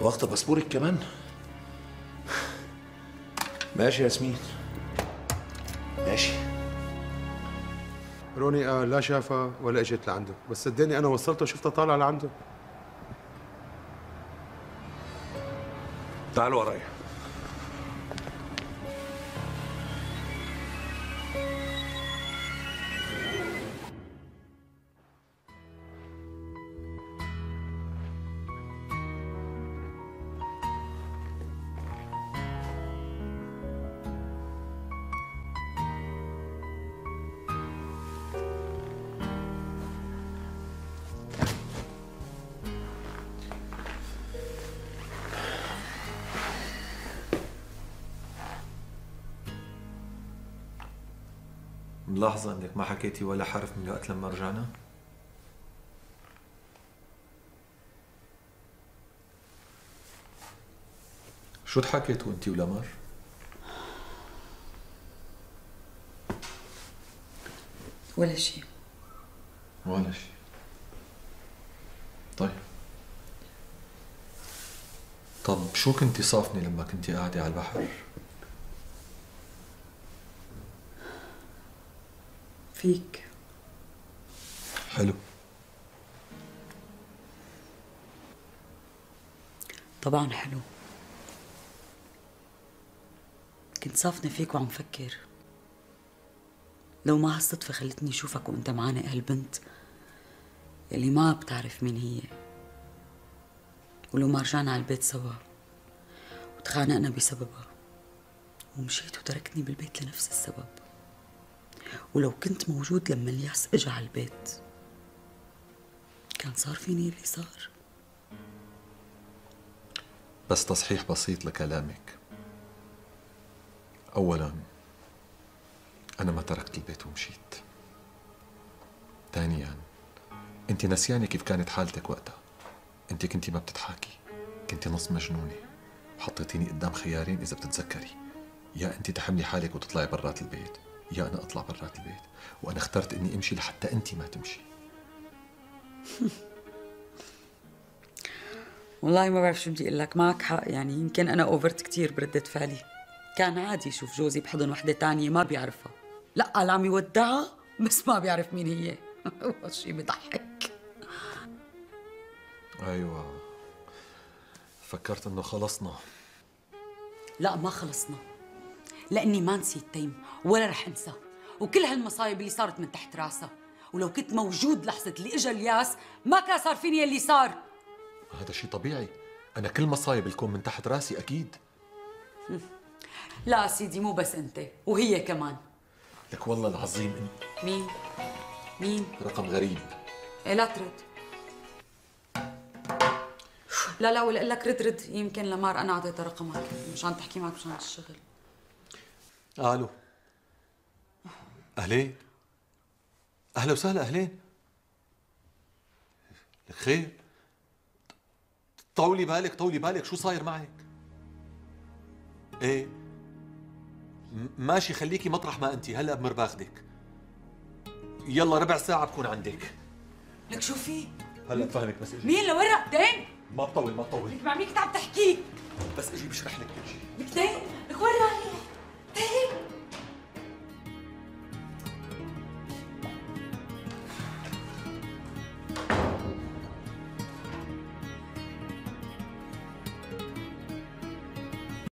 واخدة باسبورك كمان؟ ماشي ياسمين، ماشي. روني قال لا شافها ولا اجت لعنده، بس صدقني انا وصلته وشفتها طالعه لعنده. تعال ورايا. ملاحظة انك ما حكيتي ولا حرف من وقت لما رجعنا؟ شو ضحكتوا انتي ولمر؟ ولا شيء. ولا شيء. طب شو كنتي صافنة لما كنتي قاعدة على البحر؟ فيك. حلو. طبعا حلو. كنت صافنة فيك وعم فكر لو ما هالصدفة خلتني اشوفك وانت معانق هالبنت يلي ما بتعرف مين هي، ولو ما رجعنا على البيت سوا وتخانقنا بسببها ومشيت وتركتني بالبيت لنفس السبب، ولو كنت موجود لما الياس اجى على البيت كان صار فيني اللي صار. بس تصحيح بسيط لكلامك. أولاً أنا ما تركت البيت ومشيت. ثانياً أنت نسيانة كيف كانت حالتك وقتها. أنت كنتي ما بتضحكي، كنتي نص مجنونة، وحطيتيني قدام خيارين إذا بتتذكري، يا أنت تحملي حالك وتطلعي برات البيت يا أنا أطلع برات البيت، وأنا اخترت إني أمشي لحتى أنت ما تمشي. والله ما بعرف شو بدي اقول لك، معك حق، يعني يمكن انا اوفرت كثير بردة فعلي. كان عادي شوف جوزي بحضن وحده ثانيه ما بيعرفها، لا قال عم يودعها بس ما بيعرف مين هي. هالشيء بضحك. أيوة فكرت إنه خلصنا. لا ما خلصنا، لاني ما نسيت تيم ولا رح انسى، وكل هالمصايب اللي صارت من تحت راسها، ولو كنت موجود لحظه اللي اجى الياس ما كان صار فيني اللي صار. هذا شيء طبيعي، أنا كل مصايب الكون من تحت راسي أكيد. لا سيدي مو بس أنت، وهي كمان. لك والله العظيم أنت. مين؟ رقم غريب. إيه لا ترد. لا ولا أقول لك رد يمكن لمار أنا أعطيتها رقمك مشان تحكي معك مشان الشغل. ألو. أهلين. أهلا وسهلا أهلين. لك خير؟ طولي بالك شو صاير معك؟ ايه ماشي خليكي مطرح ما انتي، هلا بمر باخدك. يلا ربع ساعة بكون عندك. لك شو في؟ هلا بفهمك بس اجي. مين لوين رقتين؟ ما بطول لك مع مين كنت عم تحكي؟ بس اجي بشرح لك كل شيء. لك تين؟